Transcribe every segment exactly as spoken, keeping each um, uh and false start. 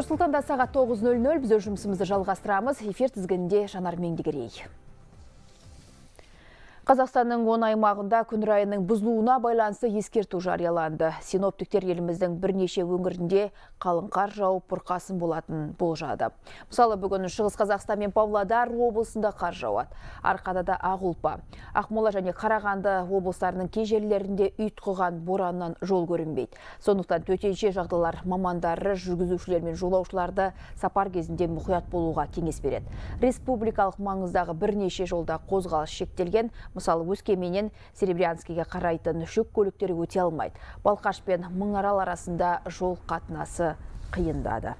Нұрсұлтанда сағат тоғыз нөл нөл біз жұмысымызды жалғастырамыз. Эфир тізгінінде Жанар Меңдігерей. Қазақстанның он аймағында күн райының бұзылуына байланысты ескерту жарияланды. Синоптиктер еліміздің бірнеше өңірінде қалың қар жауып бұрқасын болатын болжады. Мысалы, бүгін Шығыс Қазақстан мен Павлодар облысында қар жауады. Арқадада Ақұлпа, Ақмола және Қарағанды облыстарының кей жерлерінде ұйтқыған бораннан жол көрінбейді. Сондықтан төтенше жағдайлар мамандары жүргізушілер мен жолаушыларды сапар кезінде мұқият болуға кеңес береді. Республикалық маңыздағы бірнеше жолда қозғалыс шектелген. Мысалы, Өскеменнен Серебрянскіге қарайтын жүк көліктері өте алмайды. Балқаш пен Мыңарал арасында жол қатынасы қиындады.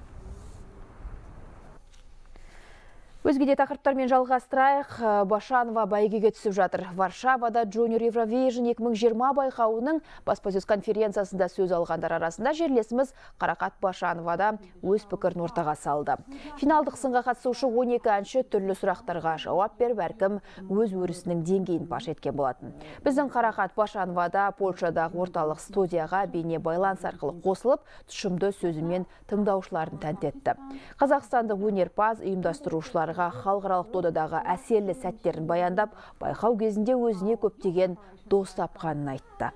Өзгеде тақырыптармен жалғастырайық. Башанова бәйгеге түсіп жатыр. Варшавада Junior Eurovision екі мың жиырма байқауының баспасөз конференциясында сөз алғандар арасында жерлесіміз Қарақат Башановада өз пікірін ортаға салды. Финалдық сынға қатысушы он екі әнші түрлі сұрақтарға жауап беріп, әркім өз өрісінің деңгейін паш еткен болатын. Біздің Қарақат Башановада Польшадағы орталық студияға бейне байланыс арқылы қосылып, тұшымды сөзімен тыңдаушыларын тәнті етті. Қазақстандық өнерпаз ұйымдастырушыларға халықаралық додадағы әсерлі сәттерін баяндап, байқау кезінде өзіне көптеген дос тапқанын айтты.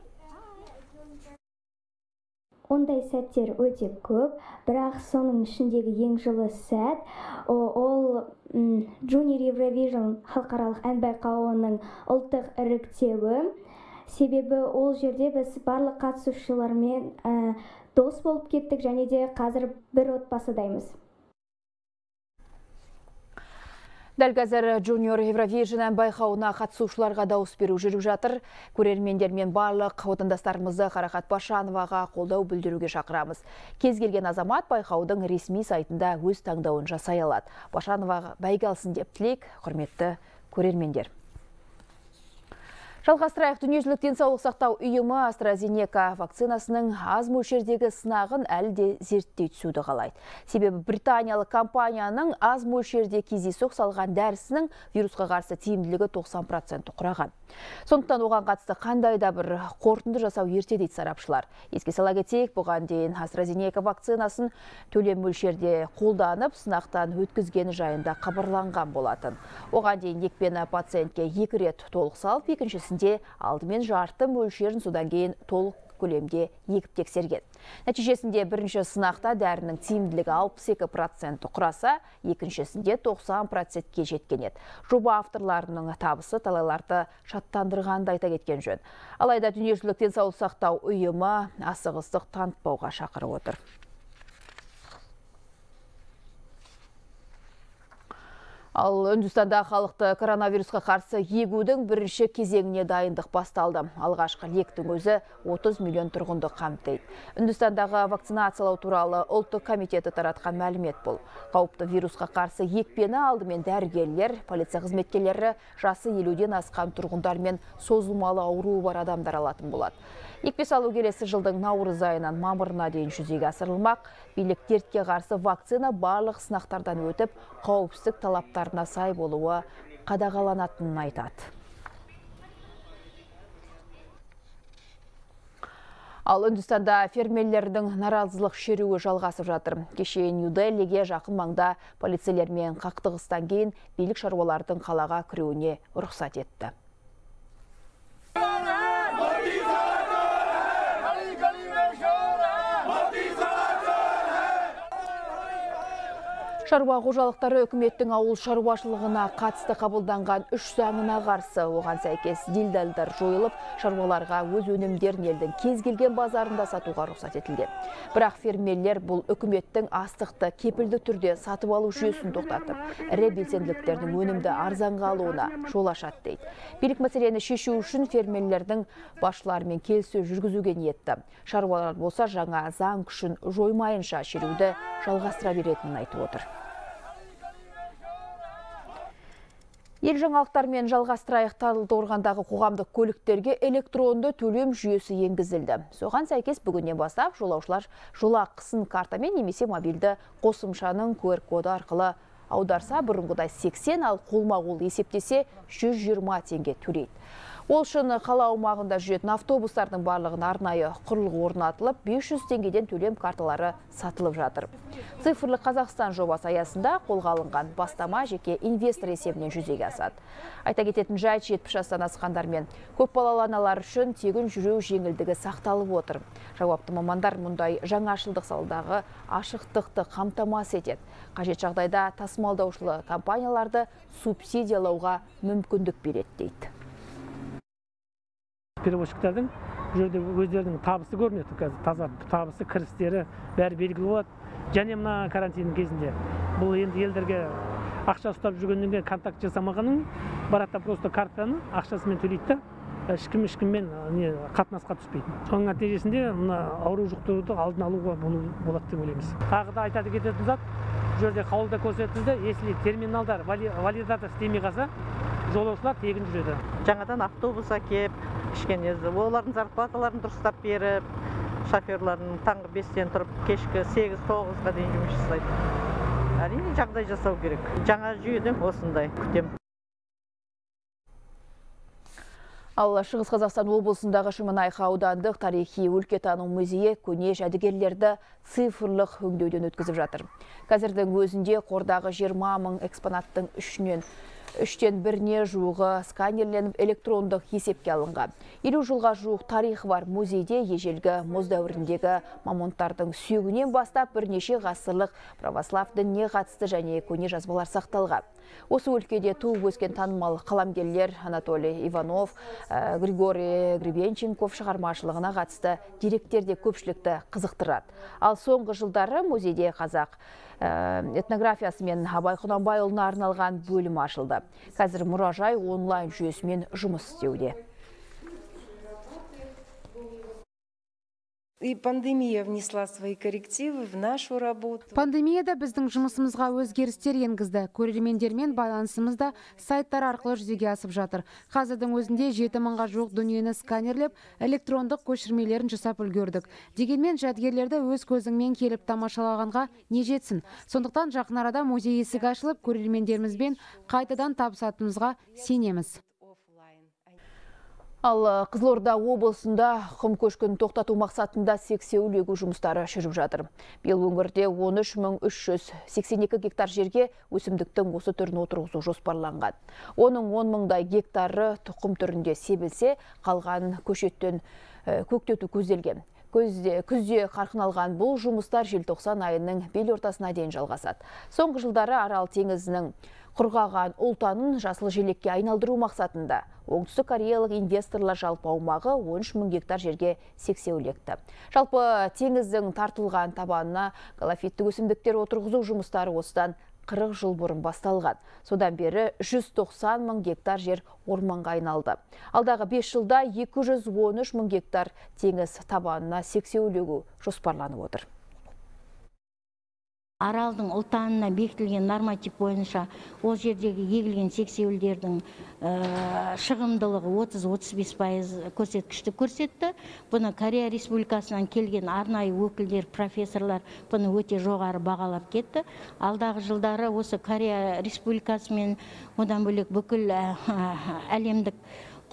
Ондай сәттер өте көп, бірақ соның ішіндегі ең жылы сәт ол Junior Eurovision халықаралық ән байқауының ұлттық іріктеуі. Себебі ол жерде біз барлық қатысушылармен дос болып кеттік, және де қазір бір отбасыдаймыз. Дәл қазір Junior Eurovision байқауына қатысушыларға дауыс беру жүріп жатыр. Көрермендер мен барлық отандастарымызды Қарақат Башановаға қолдау білдіруге шақырамыз. Кез келген азамат байқаудың ресми сайтында өз таңдауын жасай алады. Башановаға бәйге алсын деп тілейік, құрметті көрермендер. Жалғастырайық. Дүниежүзілік денсаулық сақтау ұйымы AstraZeneca вакцинасының аз мөлшердегі сынағын әлі де зерттей түсуді қалайды. Себебі британиялық компанияның аз мөлшерде кездейсоқ салған дәрісінің вирусқа қарсы тиімділігі тоқсан процент құраған. Сондықтан оған қатысты қандай да бір қорытынды жасау ерте дейді сарапшылар. Еске сала кетейік, бұған дейін AstraZeneca вакцинасын төлем мөлшерде қолданып, сынақтан өткізгені жайында хабарланған болатын. Оған дейін екпені пациентке екі рет толық салып, екіншісінде алдымен жарты мөлшерін, содан кейін толық көлемде егіп тексерген. Нәтижесінде бірінші сынақта дәрінің тиімділігі алпыс екі процент құраса, екіншісінде тоқсан процентке жеткен еді. Жоба авторларының табысы талайларды шаттандырғанды айта кеткен жөн. Алайда дүниежүзілік денсаулық сақтау ұйымы асығыстық танытпауға шақырып отыр. Ал Үндістанда халықты коронавирусқа қарсы егудің бірінші кезеңіне дайындық басталды. Алғашқы лектің өзі отыз миллион тұрғынды қамтиды. Үндістандағы вакцинациялау туралы ұлттық комитеті таратқан мәлімет бұл. Қауіпті вирусқа қарсы екпені алдымен дәрігерлер, полиция қызметкерлері, жасы елуден асқан тұрғындар мен созылмалы ауруы бар адамдар алатын болады. Екпе салу келесі жылдың наурыз айынан мамырына дейін жүзеге асырылмақ. Билік дертке қарсы вакцина барлық сынақтардан өтіп, қауіпсіздік талаптарына сай болуы қадағаланатынын айтады. Ал Үндістанда фермерлердің наразылық шеруі жалғасып жатыр. Кеше Нью-Делиге жақын маңда полицейлермен қақтығыстан кейін билік шаруалардың қалаға кіруіне рұқсат етті. Шаруа қожалықтары үкіметтің ауыл шаруашылығына қатысты қабылданған үш заңына қарсы. Оған сәйкес делдалдар жойылып, шаруаларға өз өнімдерін елдің кез келген базарында сатуға рұқсат етілген. Бірақ фермерлер бұл үкіметтің астықты кепілді түрде сатып алу жүйесін тоқтатып, ірі белсенділіктердің өнімді арзанға алуына жол ашады дейді. Билік мәселені шешу үшін фермерлердің басшыларымен келіссөз жүргізуге ниетті. Шаруалар болса жаңа заң күшін жоймайынша шеруді жалғастыра беретінін айтып отыр. Ел жаңалықтармен жалғастырайық. Талдықорғандағы қоғамдық көліктерге электронды төлем жүйесі енгізілді. Соған сәйкес бүгіннен бастап жолаушылар жолақысын картамен немесе мобильді қосымшаның ку ар коды арқылы аударса, бұрынғыдай сексен, ал қолма-қол есептесе жүз жиырма теңге төлейді. Ол үшін қала аумағында жүретін автобустардың барлығын арнайы құрылғы орнатылып, бес жүз теңгеден төлем карталары сатылып жатыр. Цифрлық Қазақстан жобасы аясында қолға алынған бастама жеке инвестор есебінен жүзеге асады. Айта кететін жайт, жетпіс жастан асқандар мен көпбалалы аналар үшін тегін жүру жеңілдігі сақталып отыр. Жауапты мамандар мұндай жаңашылдық саладағы ашықтықты қамтамасыз етеді. Қажет жағдайда тасымалдаушылы компанияларды субсидиялауға мүмкіндік береді дейді. Перевозчиктардың жерде өздерінің табысы көрінеді. Қазір таза табысы, кірістері бәрі белгілі болады. Және мына карантин кезінде бұл енді елдерге ақша ұстап жүргеннен контакт жасамағанын баратта просто картаны ақшасымен төлейді, ешкім ешкіммен не қатынасқа түспейді. Соның нәтижесінде мына ауру жұқтыруды алдын алуға болады деп ойлаймыз. Тағы да айтады кететін зат, жерде қаулыда көрсетілді, если терминалдар валидатор істемей қалса, жолаушылар тегін жүреді. Жаңадан автобус әкеп, кішкене олардың зарплаталарын дұрыстап беріп, шоферлардың таңғы бестен тұрып, кешкі сегіз тоғызға дейін жұмыс жасайды. Әрине жағдай жасау керек. Жаңа жүйеден осындай күтем. Ал Шығыс Қазақстан облысындағы Шемонайха аудандық тарихи өлкетану музейі көне жәдігерлерді цифрлық өңдеуден өткізіп жатыр. Қазірдің өзінде қордағы жиырма мың экспонаттың үшінен үштен біріне жуығы сканерленіп электрондық есепке алынған. елу жылға жуық тарихы бар музейде ежелгі мұз дәуіріндегі мамонттардың сүйегінен бастап бірнеше ғасырлық православ дініне қатысты және көне жазбалар сақталған. Осы өлкеде туып өскен танымал қаламгерлер Анатолий Иванов, Григорий Гребенченков шығармашылығына қатысты деректерде көпшілікті қызықтырады. Ал соңғы жылдары музейде қазақ этнографиясы мен Абай Құнанбайұлына арналған бөлім ашылды. Қазір мұражай онлайн жүйесімен жұмыс істеуде. И пандемия внесла свои коррективы в нашу работу. Пандемияда біздің жұмысымызға өзгерістер енгізді. Көрермендермен байланысымызда сайттар арқылы жүзеге асып жатыр. Қазірдің өзінде жеті мыңға жуық дүниені сканерлеп, электрондық көшірмелерін жасап үлгердік. Дегенмен жәдігерлерді өз көзіңмен келіп тамашалағанға не жетсін. Сондықтан жақын арада музей есігі ашылып, көрермендерімізбен қайтадан табысатынымызға сенеміз. Ал Қызылорда облысында құм көшкін тоқтату мақсатында сексеуіл егу жұмыстары жүріп жатыр. Биыл өңірде он үш мың үш жүз сексен екі гектар жерге өсімдіктің осы түрін отырғызу жоспарланған. Оның он мыңдай гектары тұқым түрінде себілсе, қалған көшеттен көктету көзделген. Күзде қарқын алған бұл жұмыстар желтоқсан айының бел ортасына дейін жалғасады. Соңғы жылдары Арал теңізінің құрғаған ұлтанын жасыл желекке айналдыру мақсатында оңтүстік кореялық инвесторлар жалпы аумағы он үш мың гектар жерге сексеуіл екті. Жалпы теңіздің тартылған табанына галофитті өсімдіктер отырғызу жұмыстары осыдан қырық жыл бұрын басталған. Содан бері жүз тоқсан мың гектар жер орманға айналды. Алдағы бес жылда екі жүз он үш мың гектар теңіз табанына сексеуіл егу жоспарланып отыр. Аралдың ұлтанына бекітілген норматив бойынша ол жердегі егілген сексеуілдердің шығымдылығы отыз отыз бес пайыз көрсеткішті көрсетті. Бұны Корея Республикасынан келген арнайы өкілдер, профессорлар бұны өте жоғары бағалап кетті. Алдағы жылдары осы Корея Республикасы мен одан бөлек бүкіл әлемдік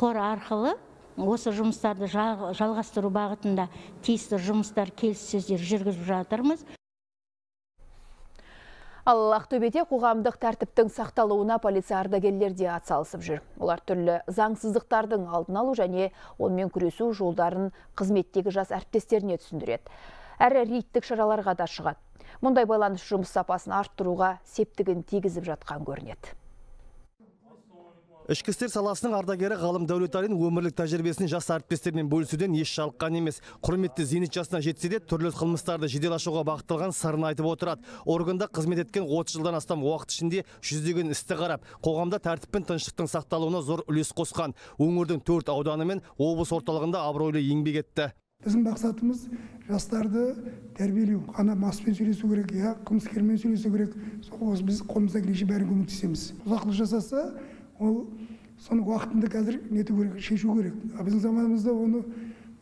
қор арқылы осы жұмыстарды жалғастыру бағытында тиісті жұмыстар, келіссөздер жүргізіп жатырмыз. Ал Ақтөбеде қоғамдық тәртіптің сақталуына полиция ардагерлер де атсалысып жүр. Олар түрлі заңсыздықтардың алдын алу және онымен күресу жолдарын қызметтегі жас әріптестеріне түсіндіреді. Әрі рейдтік шараларға да шығады. Мұндай байланыс жұмыс сапасын арттыруға септігін тигізіп жатқан көрінеді. Ішкі істер саласының ардагері ғалым Дәулеталин өмірлік тәжірибесін жас әріптестермен бөлісуден еш жалыққан емес. Құрметті зейнет жасына жетсе де түрлі қылмыстарды жедел ашуға бағытталған сырын айтып отырады. Органда қызмет еткен отыз жылдан астам уақыт ішінде жүздеген істі қарап, қоғамда тәртіп пен тыныштықтың сақталуына зор үлес қосқан. Өңірдің төрт ауданы мен облыс орталығында абыройлы еңбек етті. Біздің мақсатымыз жастарды тәрбиелеу. Қана маспен сөйлесу керек, я қылмыскермен сөйлесу керек. Сол біз қолымыздан келгенше бәрін көмектесеміз. Ұзақлық жасаса, ол соны уақытында қазір нету керек, шешу керек. Біздің заманымызда оны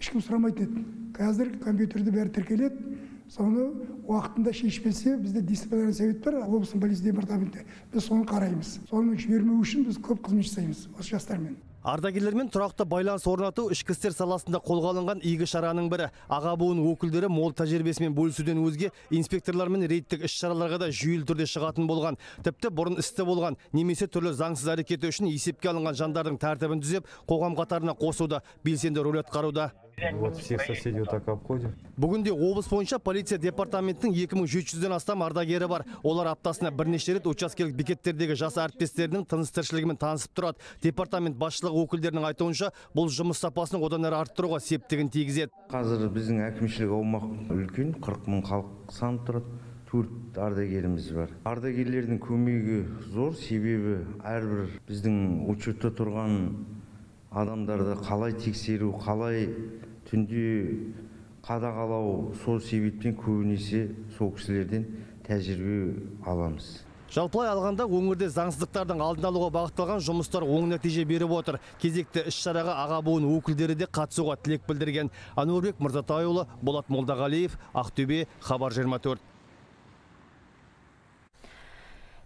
ешкім сұрамайтын еді. Қазір компьютерде бәрі тіркеледі. Соны уақытында шешпесе, бізде дисциплинарный совет бар, облыстың полиция департаменті. Біз соны қараймыз. Соны жібермеу үшін біз көп қызмет жасаймыз осы жастармен. Ардагерлермен тұрақты байланыс орнату ішкі істер саласында қолға алынған игі шараның бірі. Аға буын өкілдері мол тәжірибесімен бөлісуден өзге инспекторлармен рейдтік іс-шараларға да жүйелі түрде шығатын болған. Тіпті бұрын істі болған немесе түрлі заңсыз әрекеті үшін есепке алынған жандардың тәртібін түзеп, қоғам қатарына қосуда, белсенді рөл атқаруда. Вот всех соседей вот так обходим. Бүгінде облыс бойынша полиция департаментінің екі мың жеті жүзден астам ардагері бар. Олар аптасына бірнеше рет учаскелік бекеттердегі жас әріптестерінің тыныс тіршілігімен танысып тұрады. Департамент басшылығы өкілдерінің айтуынша, бұл жұмыс сапасын одан әрі арттыруға септігін тигізеді. Қазір біздің әкімшілік аумақ үлкен, қырық мың халық саны тұрады. Төрт ардагеріміз бар. Ардагерлердің көмегі зор, себебі әрбір біздің учетта тұрған адамдарды қалай тексеру, қалай түнде қадағалау, сол себептен көбінесе сол кісілерден тәжірибе аламыз. Жалпылай алғанда өңірде заңсыздықтардың алдын алуға бағытталған жұмыстар оң нәтиже беріп отыр. Кезекті іс-шараға аға буын өкілдері де қатысуға тілек білдірген. Ануарбек Мырзатайұлы, Болат Молдағалиев, Ақтөбе, Хабар жиырма төрт.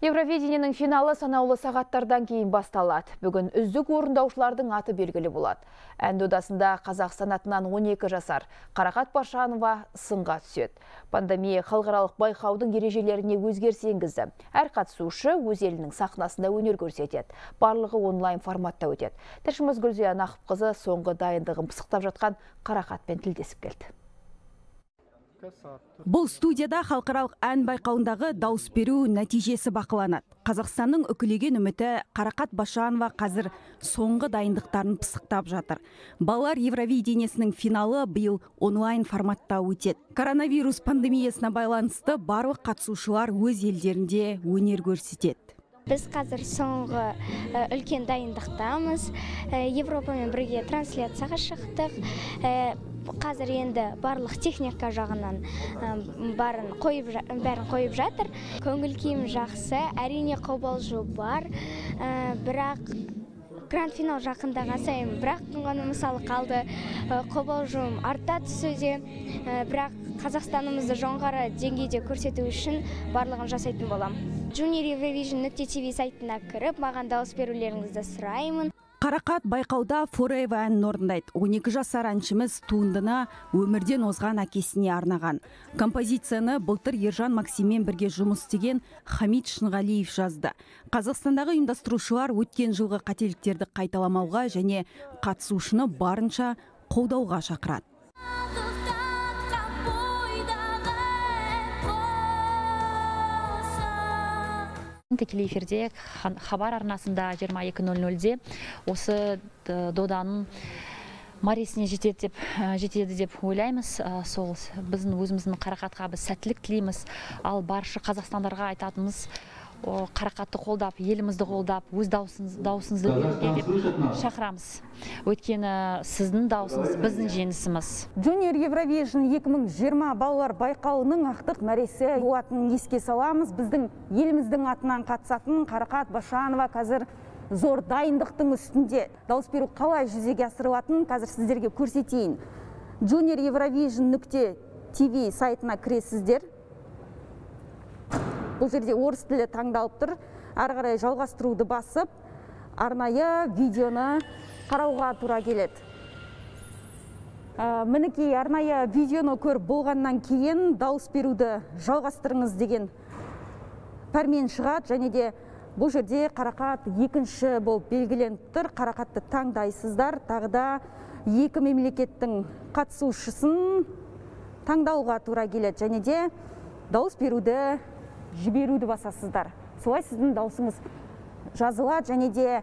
Евровидениенің финалы санаулы сағаттардан кейін басталады. Бүгін үздік орындаушылардың аты белгілі болады. Ән додасында Қазақстан атынан он екі жасар Қарақат Пашанова сынға түседі. Пандемия халықаралық байқаудың ережелеріне өзгеріс енгізді. Әр қатысушы өз елінің сахнасында өнер көрсетеді. Барлығы онлайн форматта өтеді. Тілшіміз Гүлзия Нақыпқызы соңғы дайындығын пысықтап жатқан Қарақатпен тілдесіп келді. Бұл студияда халықаралық ән байқауындағы дауыс беру нәтижесі бақыланады. Қазақстанның үкілеген үміті Қарақат Пашанова қазір соңғы дайындықтарын пысықтап жатыр. Балалар Евровидениесінің финалы биыл онлайн форматта өтеді. Коронавирус пандемиясына байланысты барлық қатысушылар өз елдерінде өнер көрсетеді. Біз қазір соңғы үлкен дайындықтамыз. Европамен бірге трансляцияға шықтық. Қазір енді барлық техника жағынан бәрін қойып жатыр. Көңіл күйім жақсы, әрине қобалжу бар, бірақ гранд финал жақындаған сайын бірақ ғана мысалы қалды, қобалжуым арта түсуде, бірақ Қазақстанымызды жоғары деңгейде көрсету үшін барлығын жасайтын болам. Junior Eurovision нүкте ти ви сайтына кіріп, маған дауыс берулеріңізді сұраймын. Қарақат байқауда Forever әнін орындайды. он екі жасар әншіміз туындыны өмірден озған әкесіне арнаған. Композицияны былтыр Ержан Максиммен бірге жұмыс істеген Хамид Шынғалиев жазды. Қазақстандағы ұйымдастырушылар өткен жылғы қателіктерді қайталамауға және қатысушыны барынша қолдауға шақырады. Тікелей эфирде Хабар арнасында жиырма екі нөл нөлде осы доданың мәресіне жетеді деп жетеді деп ойлаймыз. Сол біздің өзіміздің Қарақатқа біз сәттілік тілейміз. Ал барша қазақстандарға айтатынымыз Қарақатты қолдап, елімізді қолдап, өз даусыңызды беруге деп шақырамыз. Өйткені сіздің даусыңыз біздің жеңісіміз. Junior Eurovision екі мың жиырма балалар байқауының ақтық мәресі болатынын еске саламыз. Біздің еліміздің атынан қатысатын Қарақат Пашанова қазір зор дайындықтың үстінде. Дауыс беру қалай жүзеге асырылатынын қазір сіздерге көрсетейін. Junior Eurovision нүкте ти ви сайтына кіресіздер. Бұл жерде орыс тілі таңдалып тұр. Ары қарай жалғастыруды басып, арнайы видеоны қарауға тура келеді. Мінекей арнайы видеоны көріп болғаннан кейін дауыс беруді жалғастырыңыз деген пәрмен шығады, және де бұл жерде Қарақат екінші болып белгіленіп тұр. Қарақатты таңдайсыздар, тағы да екі мемлекеттің қатысушысын таңдауға тура келеді, және де дауыс беруді жіберуді басасыздар. Солай сіздің даусыңыз жазылады, және де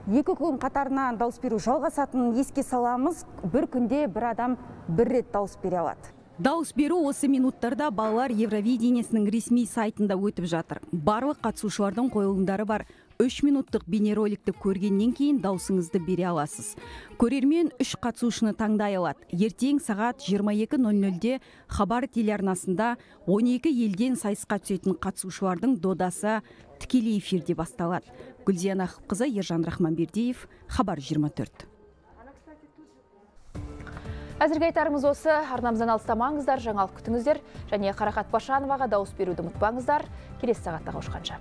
екі күн қатарынан дауыс беру жалғасатынын еске саламыз. Бір күнде бір адам бір рет дауыс бере алады. Дауыс беру осы минуттарда балалар Евровидениесінің ресми сайтында өтіп жатыр. Барлық қатысушылардың қойылымдары бар. үш минуттық бейнероликті көргеннен кейін даусыңызды бере аласыз. Көрермен үш қатысушыны таңдай алады. Ертең сағат жиырма екі нөл нөлде Хабар телеарнасында он екі елден сайысқа түсетін қатысушылардың додасы тікелей эфирде басталады. Гүлзия Нақыпқызы, Ержан Рахманбердиев, Хабар жиырма төрт. Әзірге айтарымыз осы. Арнамыздан алыстамаңыздар, жаңалық күтіңіздер, және Қарақат Пашановаға дауыс беруді ұмытпаңыздар. Келесі сағатта қауышқанша.